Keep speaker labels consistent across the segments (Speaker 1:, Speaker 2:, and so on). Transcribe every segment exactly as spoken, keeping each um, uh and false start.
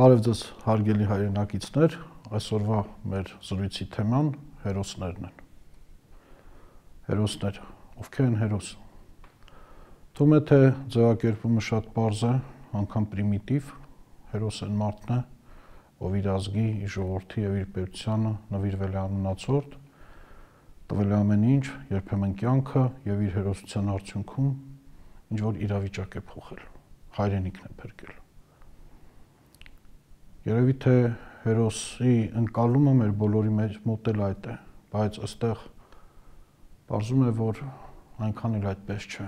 Speaker 1: Բարև ձեզ հարգելի հայրենակիցներ, այսօրվա մեր զրույցի թեման հերոսներն են։ Հերոսներ, ովքեր են հերոս։ Թվում է թե ձևակերպումը շատ պարզ է, անգամ պրիմիտիվ, հերոս են մարդն է, ով իր ազգի, իր ժողովրդի եւ իր պետությանը նվիրվել է անմնացորդ, տվել է ամեն ինչ, երբեմն կյանքը եւ իր հերոսության արդյունքում ինչ որ իրավիճակ է փոխել, հայրենիքն է փրկել։ Երևի թե հերոսի ընկալումը մեր բոլորի մեջ մոտ էլ այդ է, բայց այստեղ պարզում է, որ այնքան էլ այդպես չէ։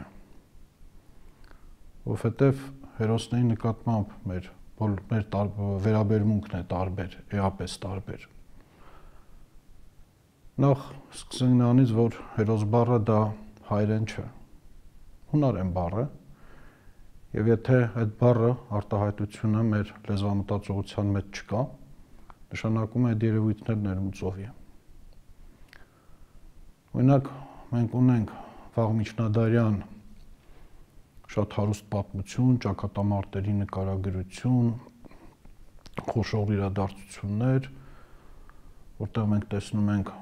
Speaker 1: Որովհետև հերոսների նկատմամբ մեր մեր վերաբերմունքն է տարբեր, էապես տարբեր։ Նախ սկսենք նրանից, որ հերոս բառը դա հայերեն չէ, հունարեն բառ է, եւ եթե այդ բառը արտահայտությունը մեր լեզվամտածողության մեջ չկա, նշանակում է այդ երևույթներ ներում ծովի։ Օրինակ, մենք ունենք վաղ միջնադարյան շատ հարուստ պատմություն, ճակատամարտերի նկարագրություն, խոշոր իրադարձություններ, որտեղ մենք տեսնում ենք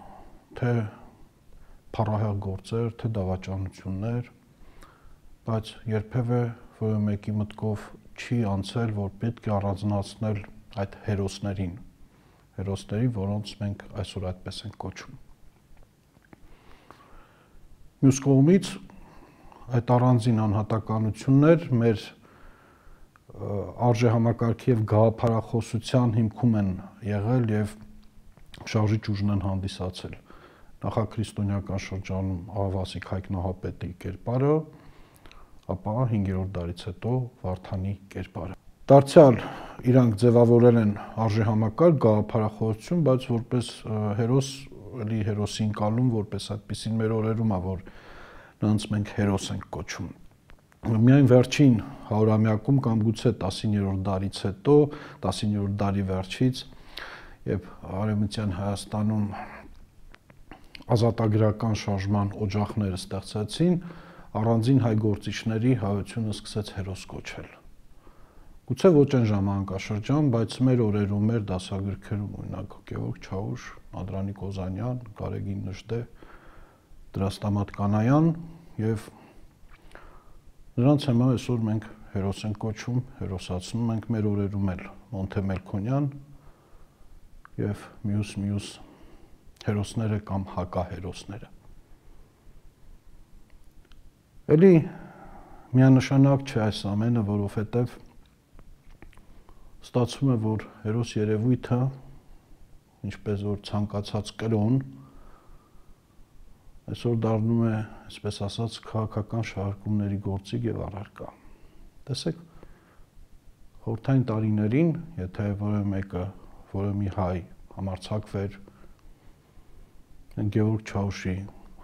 Speaker 1: թե փառահեղ գործեր, թե դավաճանություններ, բայց երբևէ որը մեկի մտքով չի անցել, որ պետք է առանձնացնել այդ հերոսներին, հերոսներին, որոնց մենք այսօր այդպես ենք կոչում։ Մյուս կողմից այդ առանձին անհատականություններ մեր արժեհամակարգի եւ գաղափարախոսության հիմքում են եղել եւ շարժիչ ուժն են հանդիսացել։ Նախաքրիստոնեական շրջանում Աղվասիկ Հայկ Նահապետի կերպարը, ապա հինգերորդ դարից հետո Վարդանի կերպարը։ Դարձյալ իրանք ձևավորել են արժեհամակարգ գաղափարախոսություն, բայց որպես հերոս, էլի հերոսի ընկալում, որպես այդպեսին մեր օրերում է, որ նրանց մենք հերոս ենք կոչում։ Միայն վերջին հարյուրամյակում կամ գուցե տասիններորդ դարից հետո, տասիններորդ դարի վերջից, երբ Արևմտյան Հայաստանում ազատագրական շարժման օջախները ստեղծեցին, առանձին հայ գործիչների հայությունը սկսեց հերոս կոչել։ Գուցե ոչ այն ժամանակաշրջան, բայց մեր օրերում, մեր դասագրքերում, օրինակ Գևորգ Չաուշ, Անդրանիկ Օզանյան, Գարեգին Նժդե, Դրաստամատ Կանայան եւ նրանց համար այսօր մենք հերոս ենք կոչում, հերոսացնում ենք մեր օրերում էլ Մոնթե Մելքոնյան եւ մյուս մյուս հերոսները կամ հակահերոսները։ Էլի միանշանակ չէ այս ամենը, որովհետև ստացվում է, որ հերոս երևույթը, ինչպես որ ցանկացած կրոն, այսօր դառնում է, այսպես ասած, քաղաքական շարժումների գործիք եւ առարկա։ Տեսեք, խորհրդային տարիներին, եթե որևէ մեկը, որևէ մի հայ համարձակվեր Գևորգ Չաուշի,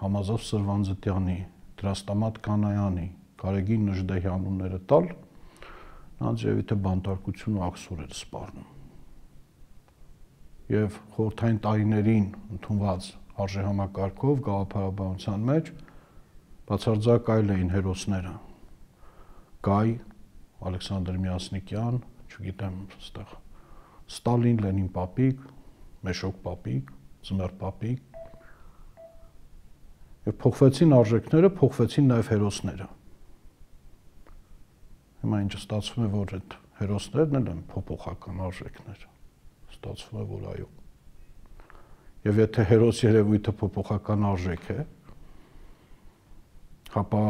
Speaker 1: Համազով Սրվանձտյանի, Դրաստամատ Կանայանի, Գարեգին Նժդեհի անունները տալ, նրանց երևի թե բանտարկություն ու աքսոր էր սպառնում։ Եվ խորհրդային տարիներին ընդունված արժեհամակարգով գաղափարաբանության մեջ բացարձակ այլ էին հերոսները։ Գայ, Ալեքսանդր Միասնիկյան, չգիտեմ, այստեղ Ստալին, Լենին պապիկ, Մեշոկ պապիկ, Ձմեռ պապիկ, եւ փոխվեցին արժեքները, փոխվեցին նաեւ հերոսները։ Հիմա ինչ ստացվում է, որ այդ հերոսներն են փոփոխական արժեքներ։ Ստացվում է, որ այո։ Եվ եթե հերոս երևույթը փոփոխական արժեք է, ապա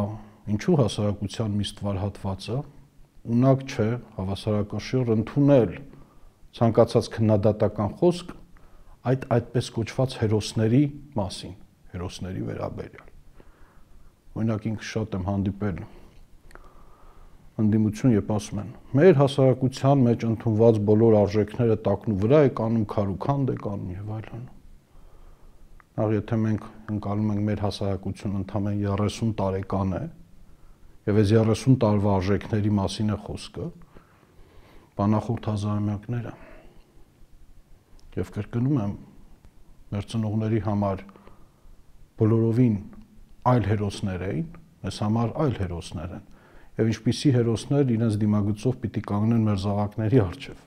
Speaker 1: ինչու հասարակության մի ստվար հատվածը ունակ չէ հավասարակշիռ ընդունել ցանկացած քննադատական խոսք այդ այդպես կոչված հերոսների մասին, հերոսների վերաբերյալ։ Օրինակ ինքը շատ եմ հանդիպել ընդդիմություն, երբ ասում են, մեր հասարակության մեջ ընդունված բոլոր արժեքները տակնու վրա է կանում, քարուքանդ է կանում եւ այլն։ Նախ եթե մենք ընկալում ենք մեր հասարակությունը ընդամենը երեսուն տարեկան է, եւ այս երեսուն տարվա արժեքների մասին է խոսքը, բանախորդ հազարամյակները։ Եվ կրկնում եմ, մեր ծնողների համար բոլորովին այլ հերոսներ էին, մեզ համար այլ հերոսներ են, եւ ինչպիսի հերոսներ իրենց դիմագծով պիտի կանգնեն մեր զավակների առջև։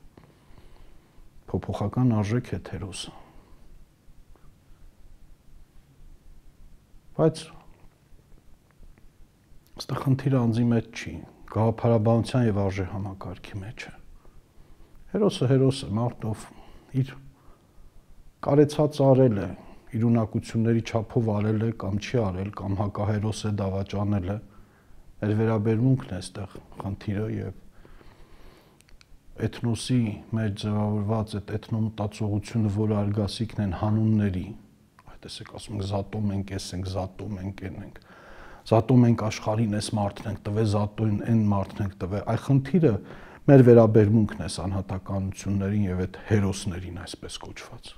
Speaker 1: փոփոխական արժեք է հերոսը։ Բայց այստեղ խնդիրը անձի մեջ չի, գաղափարաբանության եւ արժե համակարգի մեջ է։ Հերոսը հերոս է, մարդ ով իր կարեցած արել է, իր ունակությունների չափով արել է կամ չի արել, կամ հակահերոս է, դավաճանել է, մեր վերաբերմունքն է այստեղ խնդիրը եւ էթնոսի մեջ ձևավորված այդ էթնոմտածողությունը, որը արգասիքն են հանունների, տեսեք ասում ենք զատում ենք, էս ենք, զատում ենք, են ենք, զատում ենք աշխարհին, էս մարդն ենք տվել, զատում են մարդն ենք տվել, այ խնդիրը մեր վերաբերմունքն է անհատականություններին եւ այդ հերոսներին այսպես կոչված,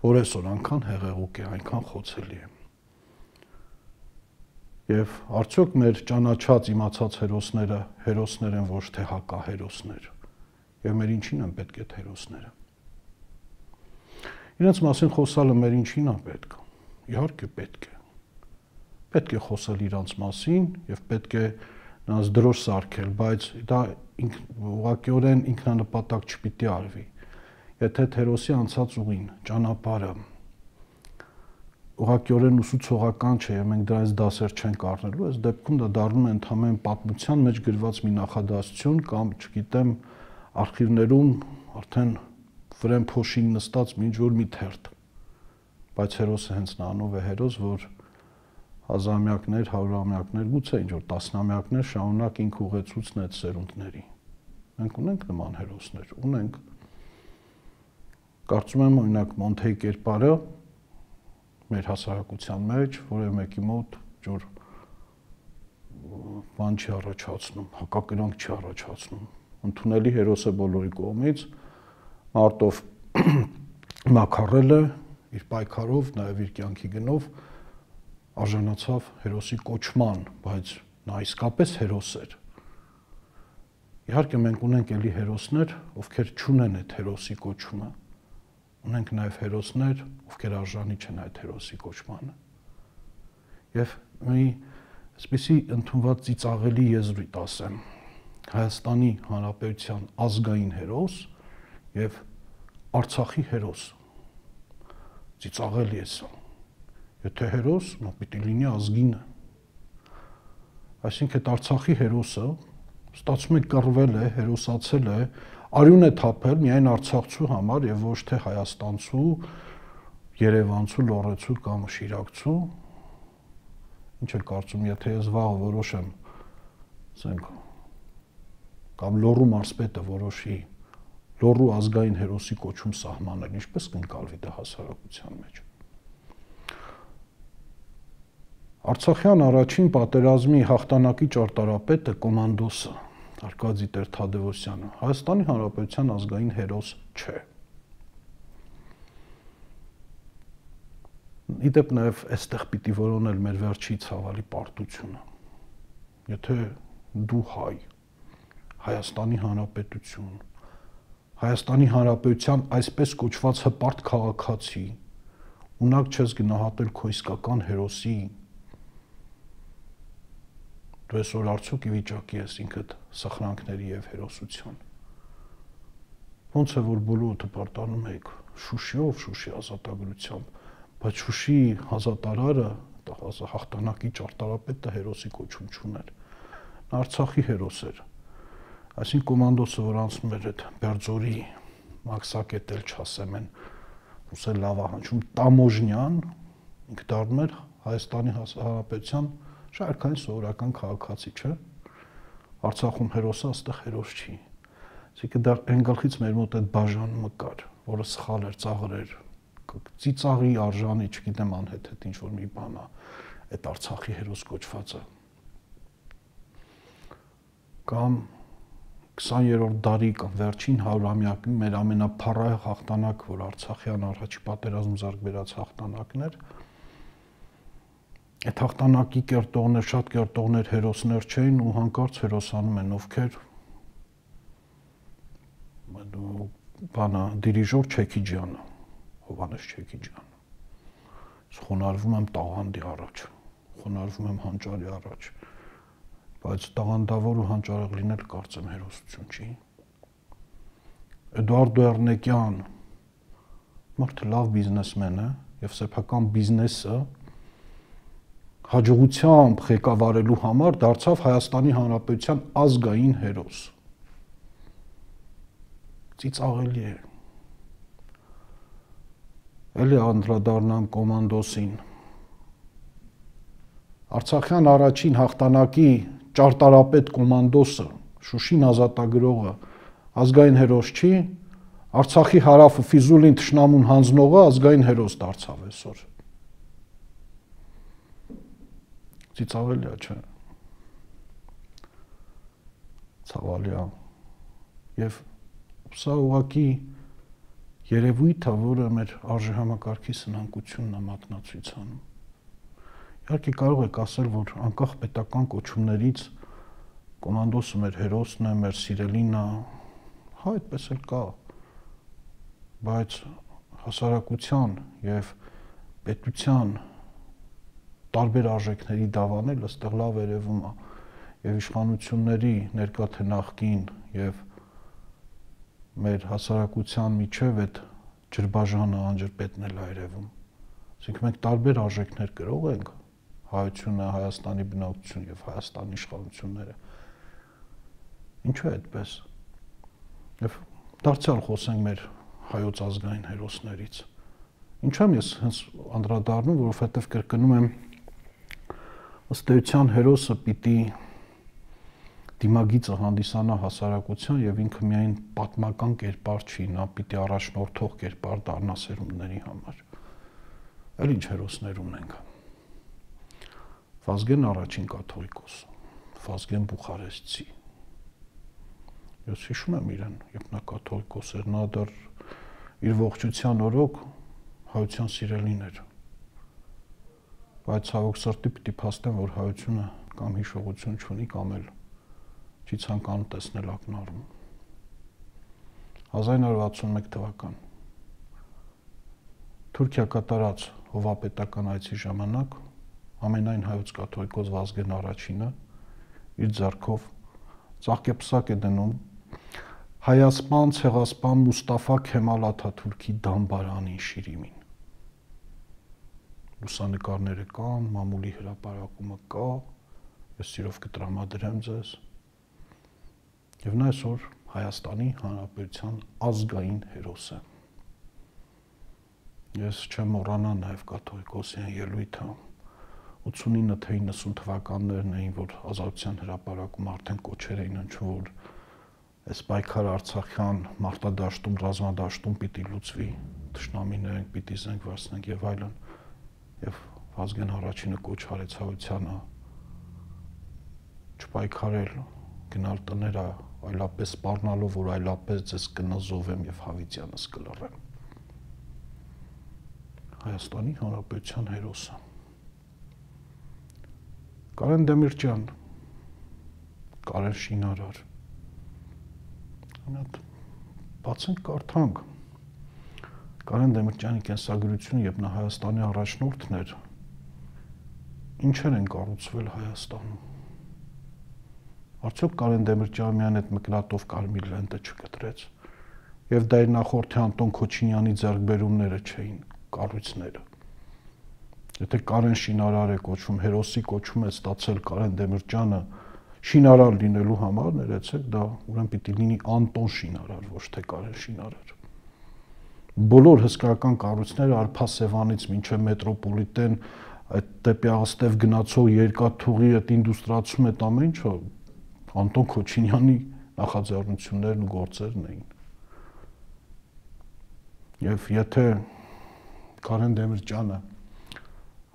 Speaker 1: որ այսօր այնքան հեղեղուկ է, այնքան խոցելի է։ Եվ արդյոք մեր ճանաչած իմացած հերոսները հերոսներ են, ոչ թե հակահերոսներ, եւ մեր ինչին են պետք է հերոսները։ Իրենց մասին խոսալը մեր ինչին է պետք։ Իհարկե պետք է։ Պետք է խոսել իրանց մասին եւ պետք է նրանց դրոշ սարքել, բայց դա ուղղակիորեն ինքնանպատակ չպիտի արվի։ Եթե հերոսի անցած ուղին, ճանապարհը ուղղակիորեն ուսուցողական չէ, եւ մենք դրանից դասեր չենք առնելու, այս դեպքում դա դառնում է ընդհանրեն պատմության մեջ գրված մի նախադասություն կամ, չգիտեմ, արխիվներում արդեն վրան փոշին նստած ինչ որ մի թերթ, բայց հերոսը հենց նրանով է հերոս, որ հազարամյակներ, հարյուրամյակներ, գուցե ինչ որ տասնամյակներ շարունակ ինք ուղեցուցն է այդ սերունդների։ Մենք ունենք նման հերոսներ, ունենք։ Կարծում եմ օրինակ Մոնթեի կերպարը մեր հասարակության մեջ որևէ մեկի մոտ ջուր բան չի առաջացնում, հակակրանք չի առաջացնում։ Ընդունելի հերոս է բոլորի կողմից, մարդով մաքարել է իր պայքարով, նաև իր կյանքի գնով արժանացավ հերոսի կոչման, բայց նա իսկապես հերոս էր։ Իհարկե մենք ունենք էլի հերոսներ, ովքեր չունեն այդ հերոսի կոչումը։ Ունենք նաև հերոսներ, ովքեր արժանի չեն այդ հերոսի կոչմանը։ Եվ մի այսպիսի ընդունված ծիծաղելի եզրույթ ասեմ, Հայաստանի Հանրապետության ազգային հերոս եւ Արցախի հերոս։ Ծիծաղելի է սա։ Եթե հերոս, նա պիտի լինի ազգինը։ Այսինքն այդ Արցախի հերոսը ստացվում է կռվել է, հերոսացել է, արյուն է թափել միայն արցախցու համար եւ ոչ թե հայաստանցու, երևանցու, լոռեցու կամ շիրակցու։ Ինչ է կարծում, եթե ես վաղ որոշեմ, ասենք, կամ լոռու մարզպետը որոշի լոռու ազգային հերոսի կոչում սահմանել, ինչպես կընկալվի դա հասարակության մեջ։ Արցախյան առաջին պատերազմի հաղթանակի ճարտարապետը կոմանդոսը Արկադի Տեր-Թադևոսյանը Հայաստանի Հանրապետության ազգային հերոս չէ։ Իդեպ նաև այստեղ պիտի որոնել մեր վերջի ցավալի պարտությունը։ Եթե դու հայ, Հայաստանի Հանրապետություն, Հայաստանի Հանրապետության այսպես կոչված հպարտ քաղաքացի, ունակ չես գնահատել քո իսկական հերոսի, դու այսօր արդյոք ի վիճակի ես ինքդ սխրանքների եւ հերոսության։ Ոնց է որ բոլորը պարտանում եք Շուշիով, Շուշի ազատագրությամբ, բայց Շուշի ազատարարը, հաղթանակի ճարտարապետը հերոսի կոչում չուներ։ Նա Արցախի հերոս էր։ Այսինքն կոմանդոսը, որ անցնում էր այդ Բերձորի մաքսակետել չասեմ են, ուսել լավա հնչում Տամոժնյան, ինքը դառնում էր Հայաստանի Հանրապետության շարքային սովորական քաղաքացի, չէ։ Արցախում հերոսը, այստեղ հերոս չի։ Այսինքն դա այն գլխից մեր մոտ այդ բաժանումը կար, որը սխալ էր, ծաղր էր, ծիծաղի արժանի, չգիտեմ անհետ ինչ որ մի բան է, այդ Արցախի հերոս կոչվածը։ Կամ քսաներորդ դարի կամ վերջին հարյուրամյակի մեր ամենափառահեղ հաղթանակ, որ Արցախյան առաջի պատերազմ ձեռք բերած հաղթանակն էր, այդ հաղթանակի կերտողներ, շատ կերտողներ հերոսներ չէին ու հանկարծ հերոսանում են ովքեր բանա դիրիժոր Չեքիջյանը, Հովհաննես Չեքիջյանը։ Խոնարհվում եմ տաղանդի առաջ, խոնարհվում եմ հանճարի առաջ, բայց տաղանդավոր ու հանճարեղ լինել կարծեմ հերոսություն չի։ Էդուարդո Էռնեկյան մարդը լավ բիզնեսմեն է եւ սեփական բիզնեսը հաջողությամբ ղեկավարելու համար դարձավ Հայաստանի Հանրապետության ազգային հերոս։ Ծիծաղելի է։ Էլի անդրադառնամ կոմանդոսին։ Արցախյան առաջին հաղթանակի ճարտարապետ կոմանդոսը, Շուշին ազատագրողը ազգային հերոս չի, Արցախի հարավը Ֆիզուլին թշնամուն հանձնողը ազգային հերոս դարձավ այսօր։ Ծիծաղելի է, չէ։ Ցավալի է։ Եվ սա ուղղակի երևույթ է, որը մեր արժեհամակարգի սնանկությունն է մատնացույց անում։ Իհարկե կարող եք ասել, որ անկախ պետական կոչումներից կոմանդոսը մեր հերոսն է, մեր սիրելին է, հա, այդպես էլ կա, բայց հասարակության եւ պետության տարբեր արժեքների դավանելը ստեղ լավ երևում է եւ իշխանությունների ներկա թե նախկին եւ մեր հասարակության միջև այդ ջրբաժանը անջրպետն էլ այրևում։ Այսինքն մենք տարբեր արժեքներ գրող ենք, հայությունը, Հայաստանի բնակչություն եւ Հայաստանի իշխանությունները։ Ինչու է այդպես։ Եվ դարձյալ խոսենք մեր հայոց ազգային հերոսներից։ Ինչու եմ ես հենց անդրադառնում, որովհետեւ կրկնում եմ ըստ էության հերոսը պիտի դիմագիծը հանդիսանա հասարակության եւ ինքը միայն պատմական կերպար չի, նա պիտի առաջնորդող կերպար դառնա սերունդների համար։ Էլ ինչ հերոսներ ունենք։ Վազգեն առաջին կաթողիկոս, Վազգեն Բուխարեստցի։ Ես հիշում եմ իրեն, երբ նա կաթողիկոս էր, նա դեռ իր ողջության օրոք հայության սիրելին էր։ Բայց ցավոք սրտի պիտի փաստեմ, որ հայությունը կամ հիշողություն չունի, կամ էլ չի ցանկանում տեսնել ակնառու։ հազար նորը վաթսունմեկ թվական Թուրքիա կատարած հովապետական այցի ժամանակ ամենայն հայոց կաթողիկոս Վազգեն առաջինը իր ձեռքով ծաղկեպսակ է դնում Հայասպան ցեղասպան Մուստաֆա Քեմալ Աթաթուրքի դամբարանի շիրիմին։ Լուսանկարները կան, մամուլի հրապարակումը կա, ես սիրով կտրամադրեմ ձեզ։ Եվ նա այսօր Հայաստանի Հանրապետության ազգային հերոս է։ Ես չեմ մոռանա նաև կաթողիկոսյան ելույթը ութսունինը թե իննսուն թվականներն էին, որ ազատության հրապարակում արդեն կոչեր էին հնչում, որ այս պայքարը Արցախյան մարտադաշտում, ռազմադաշտում պիտի լուծվի, թշնամիներենք պիտի զենք վարձնենք եւ այլն, եւ Վազգեն առաջինը կոչ արեց հայությանը չպայքարել, գնալ տները, այլապես սպառնալով, որ այլապես ձեզ կնզովեմ եւ Հավիտյանս կլռեմ։ Հայաստանի Հանրապետության հերոսը Կարեն Դեմիրճյան, Կարեն Շինարար, բացենք կարդանք Կարեն Դեմիրճյանի կենսագրությունը, երբ նա Հայաստանի առաջնորդն էր, ինչեր են կառուցվել Հայաստանում։ Արդյոք Կարեն Դեմիրճյանը միայն այդ մկրատով կարմիր լենտը չկտրեց, եւ դա իր նախորդի Անտոն Քոչինյանի ձեռքբերումները չէին, կառույցները։ Եթե Կարեն Շինարար է կոչվում, հերոսի կոչում է ստացել Կարեն Դեմիրճյանը շինարար լինելու համար, ներեցեք, դա ուրեմն պիտի լինի Անտոն Շինարար, ոչ թե Կարեն Շինարար։ Բոլոր հսկայական կառույցները Արփասևանից մինչև մետրոպոլիտեն, այդ դեպի Աղստև գնացող երկաթուղի այդ ինդուստրիացում այդ ամեն ինչը Անտոն Քոչինյանի նախաձեռնություններն ու գործերն էին։ Եվ եթե Կարեն Դեմիրճյանը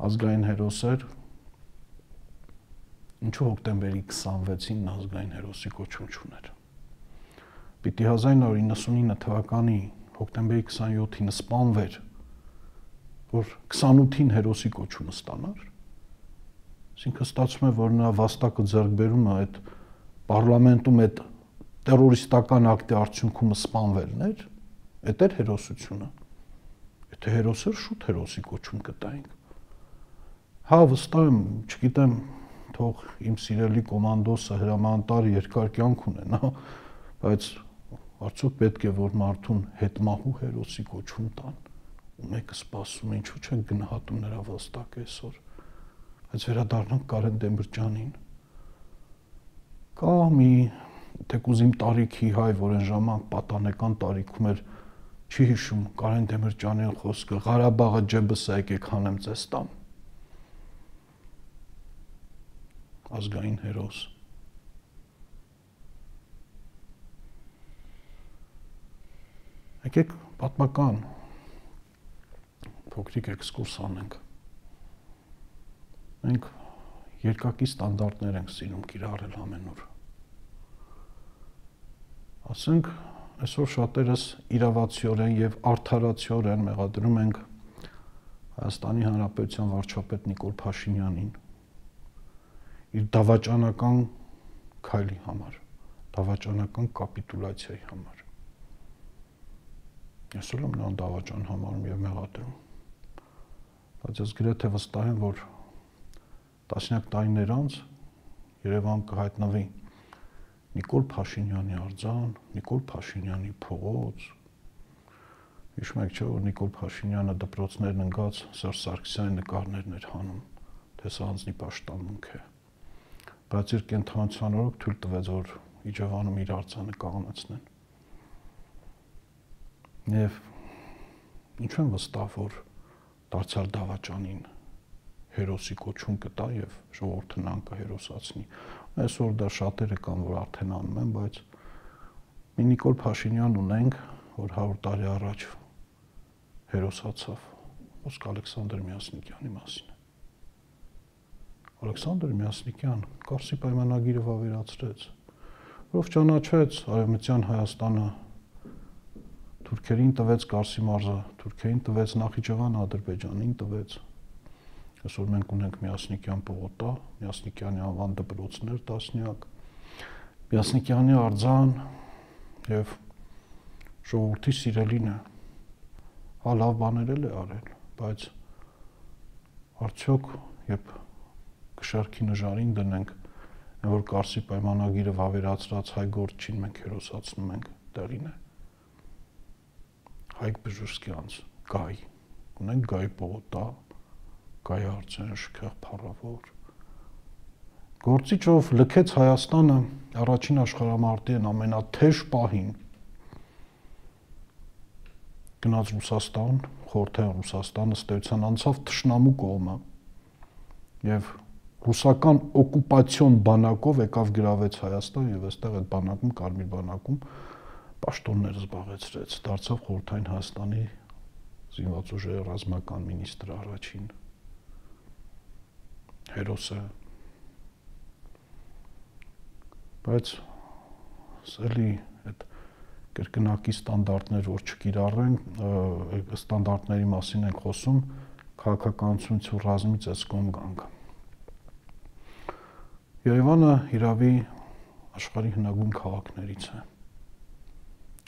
Speaker 1: ազգային հերոս էր, ինչու հոկտեմբերի քսանվեցին ազգային հերոսի կոչում չուներ։ Պիտի հազար նորը իննսունինը թվականի հոկտեմբերի քսանյոթին սպանվեր, որ քսանութին հերոսի կոչումը ստանար։ Այսինքն ստացվում է, որ նա վաստակը ձեռքբերումը այդ պարլամենտում այդ տերորիստական ակտի արդյունքում սպանվելն էր, այդ էր հերոսությունը։ Եթե հերոս էր, շուտ հերոսի կոչում կտայինք։ Հա, վստահ եմ, չգիտեմ, թող իմ սիրելի կոմանդոսը հրամանտար երկար կյանք ունենա, բայց Արդյոք պետք է որ մարդուն հետմահու հերոսի կոչում տան, ու մեկը սպասում է, ինչու՞ չեն գնահատում նրա վաստակը այսօր։ Բայց վերադառնանք Կարեն Դեմիրճյանին։ Կա մի թեկուզ իմ տարիքի հայ, որ այն ժամանակ պատանեկան տարիքում էր, չի հիշում Կարեն Դեմիրճյանի խոսքը Ղարաբաղը ջեբս է եկեք հանեմ ձեզ տամ։ Ազգային հերոս։ Եկեք պատմական փոքրիկ էքսկուրս անենք։ Մենք երկակի ստանդարտներ ենք սիրում կիրառել ամենուր։ Ասենք, այսօր շատերս իրավացիորեն եւ արդարացիորեն մեղադրում ենք Հայաստանի Հանրապետության վարչապետ Նիկոլ Փաշինյանին իր դավաճանական քայլի համար, դավաճանական կապիտուլյացիայի համար։ Ես ուրեմն նրան դավաճան համարում եւ մեղադրում։ Բայց ես գրեթե վստահ եմ, որ տասնյակ տարիներ անց Երևան կհայտնվի Նիկոլ Փաշինյանի արձան, Նիկոլ Փաշինյանի փողոց։ Հիշում եք, չէ՞, որ Նիկոլ Փաշինյանը դպրոցներն ընկած Սերժ Սարգսյանի նկարներն էր հանում, թե սա անձնի պաշտամունք է։ Բայց իր կենթանության օրոք թույլ տվեց, որ Իջևանում իր արձանը կանգնեցնեն։ Եվ ինչու եմ վստահ, որ դարձյալ դավաճանին հերոսի կոչում կտա եւ ժողովուրդը նրան կհերոսացնի։ Այսօր դա շատերը կան, որ արդեն անում են, բայց մի Նիկոլ Փաշինյան ունենք, որ հարյուր տարի առաջ հերոսացավ, ոսկ Ալեքսանդր Միասնիկյանի մասին։ Ալեքսանդր Միասնիկյան Կարսի պայմանագիրը վավերացրեց, որով ճանաչեց Արևմտյան Հայաստանը, թուրքերին տվեց Կարսի մարզը, թուրքերին տվեց Նախիջևանը, Ադրբեջանին տվեց։ Այսօր մենք ունենք Միասնիկյան պողոտա, Միասնիկյանի անվան դպրոցներ տասնյակ, Միասնիկյանի արձան եւ ժողովրդի սիրելին է։ Հա լավ բաներ էլ է արել, բայց արդյոք երբ կշարքի նժարին դնենք, որ Կարսի պայմանագիրը վավերացրած հայ գործչին մենք հերոսացնում ենք, դերին է։ Հայկ Բժշկյանց Գայ, ունենք Գայ պողոտա, Գայ արձան, շքեղ փառավոր։ Գործիչով լքեց Հայաստանը առաջին աշխարհամարտի ամենաթեժ պահին։ Գնաց Ռուսաստան, խորհրդային Ռուսաստան, ըստ էության անցավ թշնամու կողմը եւ ռուսական օկուպացիոն բանակով եկավ գրավեց Հայաստան եւ այստեղ այդ բանակում, Կարմիր բանակում պաշտոններ զբաղեցրեց, դարձավ խորհրդային Հայաստանի զինված ուժերի ռազմական մինիստրը առաջին։ Հերոս է։ Բայց սելի այդ կրկնակի ստանդարտներ, որ չկիրառեն, ստանդարտների մասին ենք խոսում, քաղաքականությունից ու ռազմից այս կողմ գանք։ Երևանը իրավի աշխարհի հնագույն քաղաքներից է։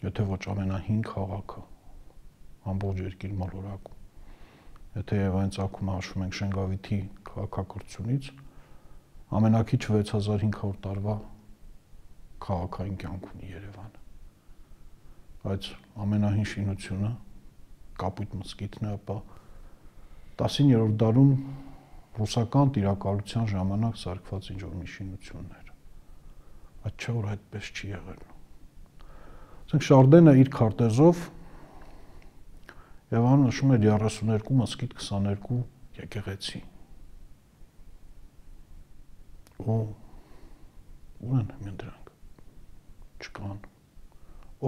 Speaker 1: Եթե ոչ ամենահին քաղաքը ամբողջ երկիր մոլորակում։ Եթե Երևանի ծագումը հաշվում ենք Շենգավիթի քաղաքակրթությունից, ամենակիչ վեց հազար հինգ հարյուր տարվա քաղաքային կյանք ունի Երևանը։ Բայց ամենահին շինությունը Կապույտ մզկիթն է, ապա տասիններորդ դարում ռուսական տիրակալության ժամանակ սարքված ինչ-որ մի շինություններ։ Բայց չէ որ այդպես չի եղել։ Ասենք Շարդենը իր քարտեզով Երևանում նշում էր երեսուններկու մզկիթ, քսաներկու եկեղեցի։ Ու ուր են հիմա դրանք։ Չկան։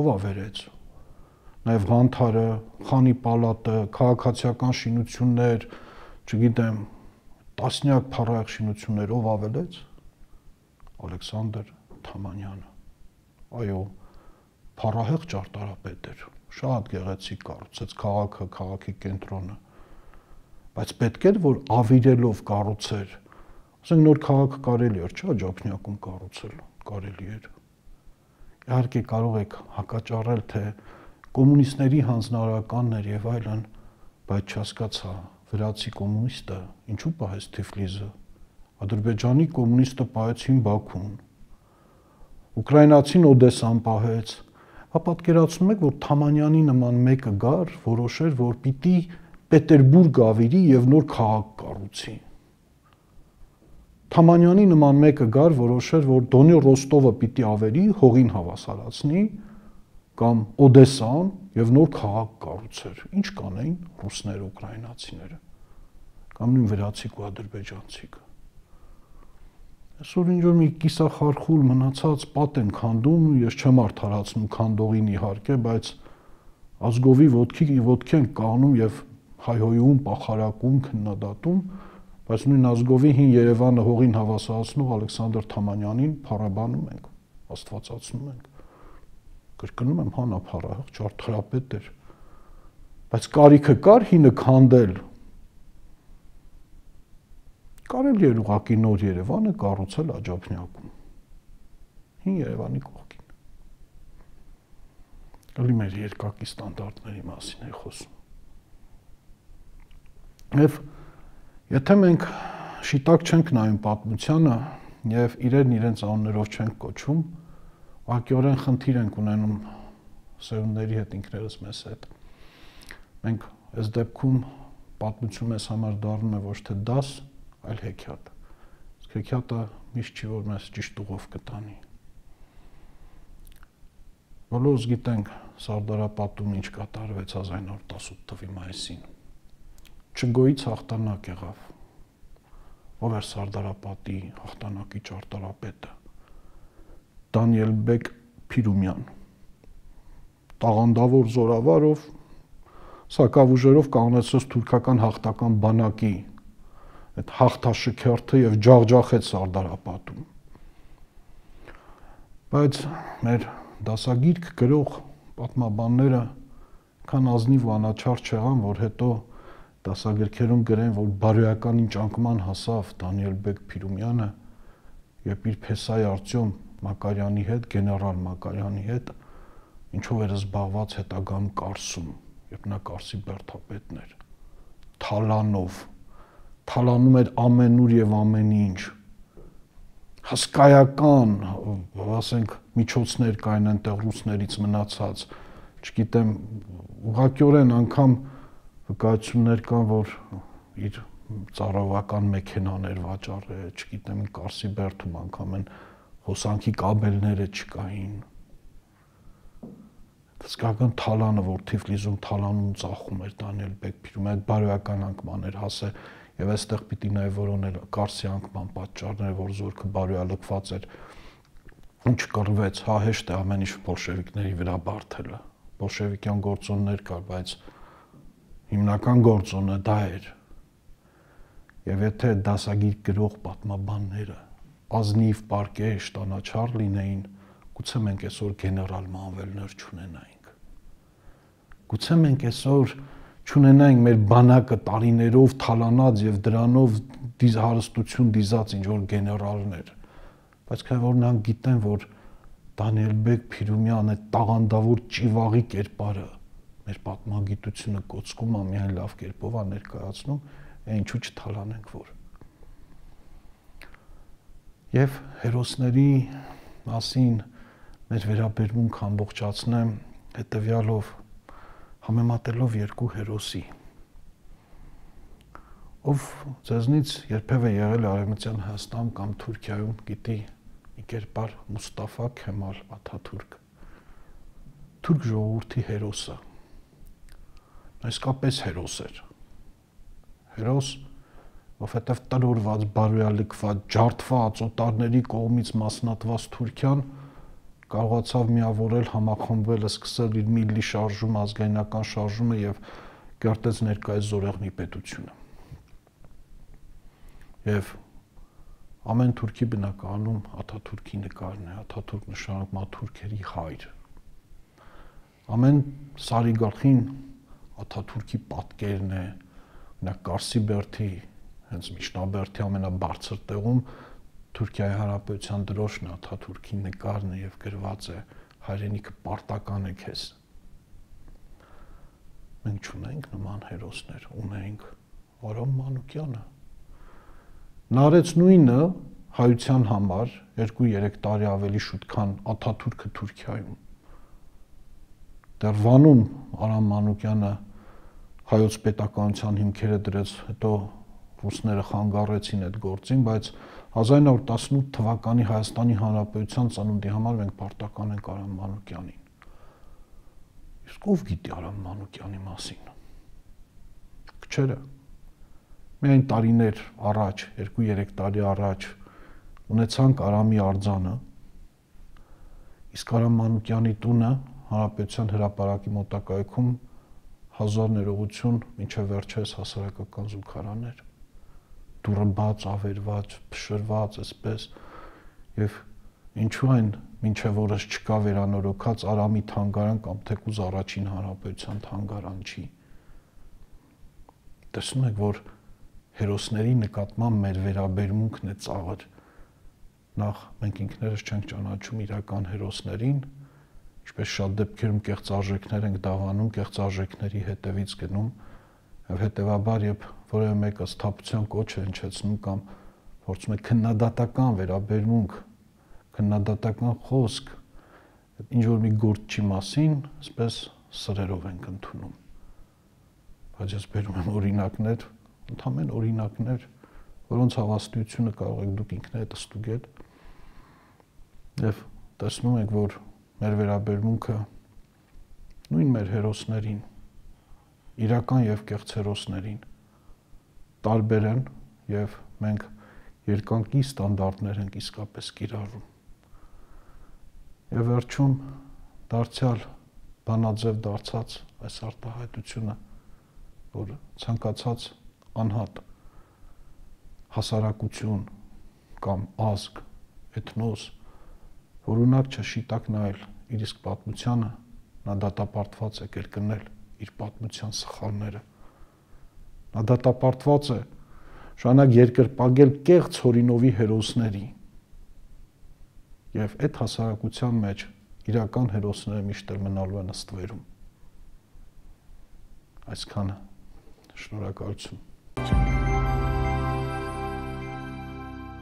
Speaker 1: Ով ավերեց։ Նաև Ղանթարը, Խանի պալատը, քաղաքացիական շինություններ, չգիտեմ, տասնյակ փառահեղ շինություններ ով ավելեց։ Ալեքսանդր Թամանյանը։ Այո, փառահեղ ճարտարապետ էր, շատ գեղեցիկ կառուցեց քաղաքը, քաղաքի կենտրոնը, բայց պետք էր որ ավիրելով կառուցեր, ասենք նոր քաղաք կարելի էր, չէ՞, Աջափնյակում կառուցել, կարելի էր։ Իհարկե կարող եք հակաճառել, թե կոմունիստների հանձնարարականներ եւ այլն, բայց չհասկացա, վրացի կոմունիստը ինչու պահեց Թիֆլիսը, Ադրբեջանի կոմունիստը պահեց Հին Բաքուն, ուկրաինացին Օդեսան պահեց, հա պատկերացնում եք, որ Թամանյանի նման մեկը գար, որոշեր, որ պիտի Պետերբուրգ ավիրի եւ նոր քաղաք կառուցի։ Թամանյանի նման մեկը գար, որոշեր, որ Դոնի Ռոստովը պիտի ավերի, հողին հավասարացնի, կամ Օդեսան եւ նոր քաղաք կառուցեր։ Ինչ կանեին ռուսները, ուկրաինացիները, կամ նույն վրացիք ու ադրբեջանցիք։ Այսօր ինչ որ մի կիսախարխուլ մնացած պատ են քանդում, ես չեմ արդարացնում քանդողին իհարկե, բայց ազգովի ոտքի ոտքի են կանում եւ հայհոյում, պախարակում, քննադատում, բայց նույն ազգովի հին Երևանը հողին հավասարացնող Ալեքսանդր Թամանյանին փառաբանում ենք, աստվածացնում ենք։ Կրկնում եմ, հանափառահեղ ճարտարապետ էր, բայց կարիքը կար հինը քանդել։ Կարելի էր ուղղակի նոր Երևանը կառուցել Աջափնյակում։ Հին Երևանի կողքին։ Ալի մեր երկակի ստանդարտների մասին է խոսում։ Եվ եթե մենք շիտակ չենք նայում պատմությանը եւ իրեն իրենց անուններով չենք կոչում, ակյորեն խնդիր ենք ունենում սերունդների հետ, ինքներս մեզ հետ։ Մենք այս դեպքում պատմություն մեզ համար դառնում է ոչ թե դաս, այլ հեքիաթ։ Իսկ հեքիաթը միշտ չի, որ մեզ ճիշտ ուղով կտանի։ Բոլորս գիտենք Սարդարապատում ինչ կատարվեց հազար իննսուն տասնութ թվականի մայիսին։ Չգոյից հաղթանակ եղավ։ Ով էր Սարդարապատի հաղթանակի ճարտարապետը։ Դանիելբեկ Փիրումյան։ Տաղանդավոր զորավարով սակավուժերով կանգնեցրեց թուրքական հաղթական բանակի այդ հաղթաշքերթը եւ ջախջախեց Սարդարապատում։ Բայց մեր դասագիրք գրող պատմաբանները քան ազնիվ ու անաչառ չեղան, որ հետո դասագրքերում գրեն, որ բարոյական ինճանկման հասավ Դանիելբեկ Փիրումյանը, երբ իր փեսայի Արտյոմ Մակարյանի հետ, գեներալ Մակարյանի հետ, ինչով էր զբաղված հետագայում Կարսում, երբ նա Կարսի բերդապետն էր, թալանով, թալանում էր ամենուր եւ ամեն ինչ, հսկայական, ասենք, միջոցներ կային այնտեղ ռուսներից մնացած, չգիտեմ, ուղղակիորեն անգամ վկայություններ կան, որ իր ծառայողական մեքենաներ վաճառել, չգիտեմ, Կարսի բերդում անգամ են հոսանքի կաբելները չկային։ Հսկական թալանը, որ Թիֆլիսում թալանում ծախում էր Դանիելբեկ Փիրումյանը, այդ բարոյական անկման էր հասել, եւ այստեղ պիտի նաեւ որոնել Կարսի անկման պատճառները, որ զորքը բարոյալքված էր, ինչ կռվեց, հա հեշտ է ամեն ինչ բոլշևիկների վրա բարթելը, բոլշևիկյան գործոններ կար, բայց հիմնական գործոնը դա էր։ Եվ եթե դասագիր գրող պատմաբանները ազնիվ պարկեշտ անաչառ լինեին, գուցե մենք այսօր գեներալ մանվելներ չունենայինք։ Գուցե մենք այսօր չունենայինք մեր բանակը տարիներով թալանած եւ դրանով դիզ հարստություն դիզած ինչ որ գեներալներ, բայց քանի որ նրանք գիտեն, որ Դանիելբեկ Փիրումյանը տաղանդավոր ճիվաղի կերպարը մեր պատմագիտությունը կոծկում է, միայն լավ կերպով է ներկայացնում, է ինչու չթալանենք որ։ Եվ հերոսների մասին մեր վերաբերմունք ամբողջացնեմ հետևյալով, համեմատելով երկու հերոսի, ով ձեզնից երբևէ եղել է Արևմտյան Հայաստան կամ Թուրքիայում, գիտի մի կերպար Մուստաֆա Քեմալ Աթաթուրք, թուրք ժողովրդի հերոսը, իսկապես հերոս էր, հերոս, որովհետև տրորված, բարոյալքված, ջարդված, օտարների կողմից մասնատված Թուրքիան կարողացավ միավորել, համախմբվել, սկսել իր միլլի շարժումը, ազգայնական շարժումը եւ կերտեց ներկայիս Զորեղնի պետությունը։ Եվ ամեն թուրքի բնականում Աթաթուրքի նկարն է, Աթաթուրք նշանակում է թուրքերի հայր։ Ամեն սարի գլխին Աթաթուրքի պատկերն է, նա Կարսի բերդի, հենց Միջնաբերդի ամենաբարձր տեղում Թուրքիայի Հանրապետության դրոշն է, Աթաթուրքի նկարն է եւ գրված է հայրենիքը պարտական է քեզ։ Մենք չունենք նման հերոսներ, ունենք Արամ Մանուկյանը։ Նա արեց նույնը հայության համար երկու երեք տարի ավելի շուտ, քան Աթաթուրքը Թուրքիայում։ դեռ Վանում Արամ Մանուկյանը հայոց պետականության հիմքերը դրեց, հետո ռուսները խանգարեցին այդ գործին, բայց հազար ինը հարյուր տասնութ թվականի Հայաստանի Հանրապետության ծնունդի համար մենք պարտական ենք Արամ Մանուկյանին։ Իսկ ով գիտի Արամ Մանուկյանի մասին։ Քչերը։ Միայն տարիներ առաջ, երկու-երեք տարի առաջ ունեցանք Արամի արձանը, իսկ Արամ Մանուկյանի տունը Հանրապետության հրապարակի մոտակայքում հազար ներողություն մինչև վերջերս հասարակական զուգարաններ, դուռը բաց, ավերված, փշրված, այսպես, եւ ինչու այն մինչև օրս չկա վերանորոգած Արամի թանգարան կամ թեկուզ առաջին Հանրապետության թանգարան չի։ Տեսնում եք, որ հերոսների նկատմամբ մեր վերաբերմունքն է ծաղր։ Նախ մենք ինքներս չենք ճանաչում իրական հերոսներին, ինչպես շատ դեպքերում կեղծ արժեքներ ենք դավանում, կեղծ արժեքների հետևից գնում, եւ հետեւաբար երբ որևէ մեկը սթափության կոչ է հնչեցնում կամ փորձում է քննադատական վերաբերմունք, քննադատական խոսք, ինչ որ մի գործի մասին, այսպես սրերով ենք ընդունում։ Բայց ես բերում եմ օրինակներ, ընդհանրեն օրինակներ, որոնց հավաստիությունը կարող եք դուք ինքներդ ստուգել, եւ տեսնում եք, որ մեր վերաբերմունքը նույն մեր հերոսներին, իրական եւ կեղծ հերոսներին տարբեր են եւ մենք երկանկի ստանդարտներ ենք իսկապես կիրառում։ Եվ վերջում դարձյալ բանաձև դարձած այս արտահայտությունը, որ ցանկացած անհատ հասարակություն կամ ազգ, էթնոս, որ ունակ չէ շիտակ նայել իր իսկ պատմությանը, նա դատապարտված է կրկնել իր պատմության սխալները։ Նա դատապարտված է շանակ երկրպագել կեղծ հորինովի հերոսների։ Եվ այդ հասարակության մեջ իրական հերոսները միշտ էլ մնալու են ստվերում։ Այսքանը, շնորհակալություն։